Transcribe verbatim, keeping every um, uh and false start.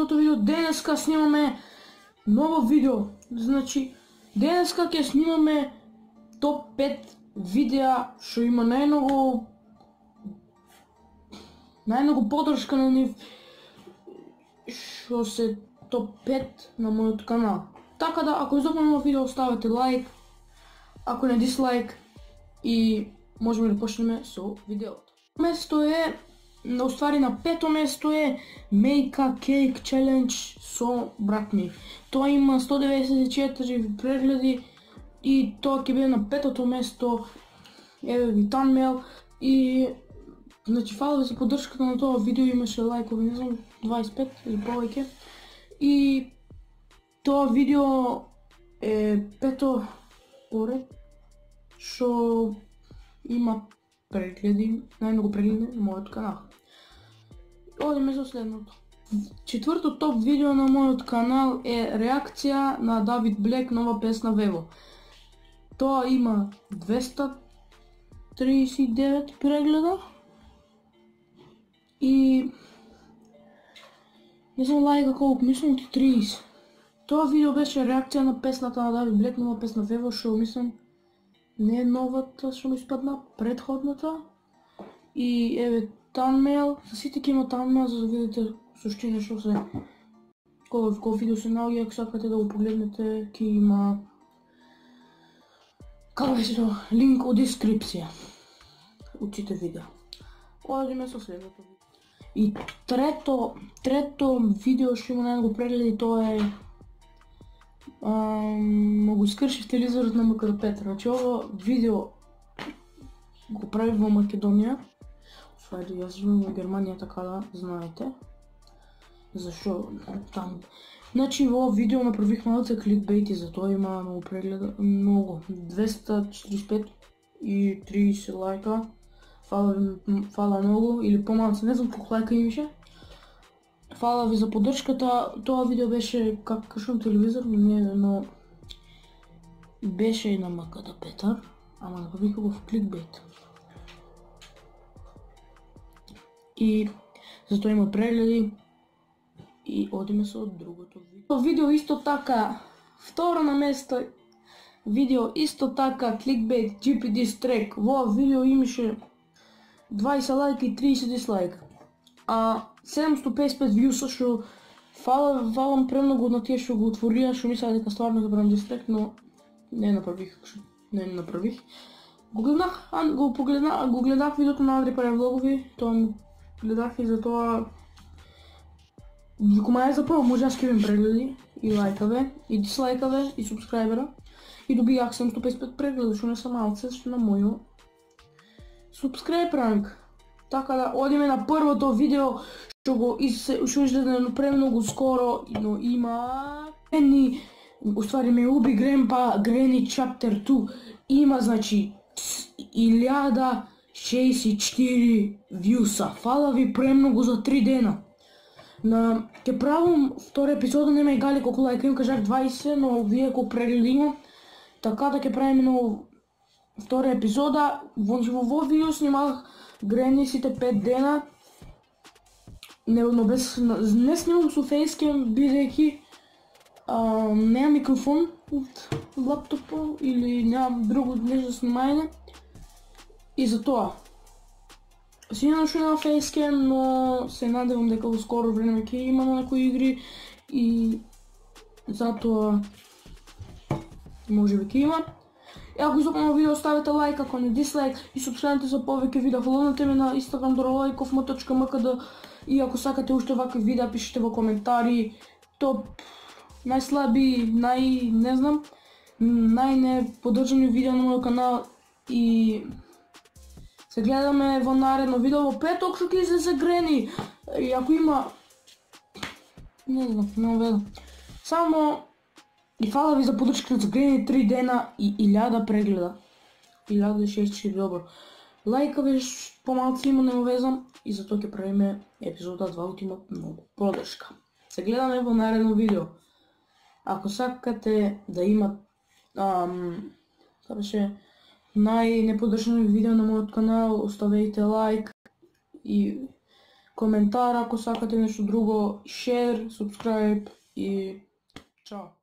следното видео. Денеска снимаме ново видео. Значи, денеска ќе снимаме топ пет видеа што има најмногу најмногу поддршка на нив, што се топ пет на мојот канал. Така да, ако ви допадна видео, ставете лайк, ако не дислайк, и можеме да почнеме со видеото. Место е, на уствари на пето место е Make a Cake Challenge со брат ми. Тоа има сто деветдесет и четири прегледи и тоа ќе биде на петото место. Еве ви thumbnail и значи фала ви за поддршката на тоа видео, имаше лайкови, не знам, дваесет и пет или повеќе. И тоа видео е пето поред што има прегледи, најмногу прегледи на мојот канал. Одиме за следното. Четврто топ видео на мојот канал е реакција на Давид Блек, нова песна Вево. Тоа има двеста триесет и девет прегледа и не знам лајка колку, мислам ти триесет. Тоа видео беше реакција на песната на Давид Блек, нова песна Вево, што мислам не е новата што ми испадна, предходната. И еве thumbnail, за сите ќе има thumbnail за да видите суштина што се кој кој видео се наоѓа, ако сакате да го погледнете, ќе има како беше тоа, линк од дескрипција од сите видеа. Одиме со следното видео. И трето, трето видео што има најмногу прегледи, тоа е Могу скршив телевизорот на Мкр Петра. Значи ово видео го прави во Македонија. Свајде, јас живеам во Германија, така да знаете. Зашо там. Значи во ово видео направих малце кликбейт и затоа има многу прегледа, многу, двеста четиридесет и пет и триесет лајка. Фала, фала многу, или помалце, не знам колку лајка имаше. Фала ви за поддршката. Тоа видео беше како кршам телевизор, не, но беше и на Мкр Петар, ама направих го в кликбейт. И затоа има прегледи и одиме со другото видео. Видео исто така, второ на место видео исто така кликбейт джи пи Diss Track. Во видео имаше дваесет лајка и триесет дислајка. А седумстотини и песет и пет вјуса, што фала, фалам премногу на тие што го отворија, што мислеа дека стварно ќе правам дистрект, но не направих, не направих. Го гледах, го погледнах, го гледах видеото на Андри прави влогови, тоа му гледах и затоа Викума е за прво, може јас ќе имам прегледи и лајкаве, и дислајкаве, и субскрајбера, и добијах седумстотини и песет и пет прегледи, што не са малце, што на мојо субскрајб ранг. Така да, одиме на првото видео што го што изгледа премногу скоро, но има Грени, уствари ме уби Гренпа, Грени Chapter two, има значи илјада шеесет и четири вјуса. Фала ви премногу за три дена. На ќе правам втора епизода, нема и гали колку лајка им, кажах дваесет, но вие колку прегледи има. Така да ќе правиме ново втора епизода. Во во видео снимах Грени сите пет дена. Не, но без, не снимам со фейскем, бидејќи немам микрофон од лаптопот или немам друго нешто за снимање. И затоа сигурно што нема фейскем, но се надевам дека во скоро време ќе има на некои игри и затоа можеби ќе има. И ако изопнемо видео, ставете лайк, ако не дислайк, и субскрајбнете за повеќе видеа. Фоловнете ме на Instagram Доролајков ем точка ем ка де и ако сакате уште вакви видеа, пишете во коментари топ најслаби, нај не знам, најнеподдржани видеа на мојот канал и се гледаме во наредно видео во петок што ќе излезе Грени. И ако има не знам, не ведам. Само и фала ви за поддршката за Грени, три дена и илјада прегледа. илјада шеесет и четири, добро. Лајка веш помалци има, не везам, и затоа ќе правиме епизода два, ќе има многу поддршка. Се гледаме во наредно видео. Ако сакате да има ам, тоа беше најнеподдржани видео на мојот канал, оставете лайк и коментар ако сакате нешто друго, share, subscribe и чао.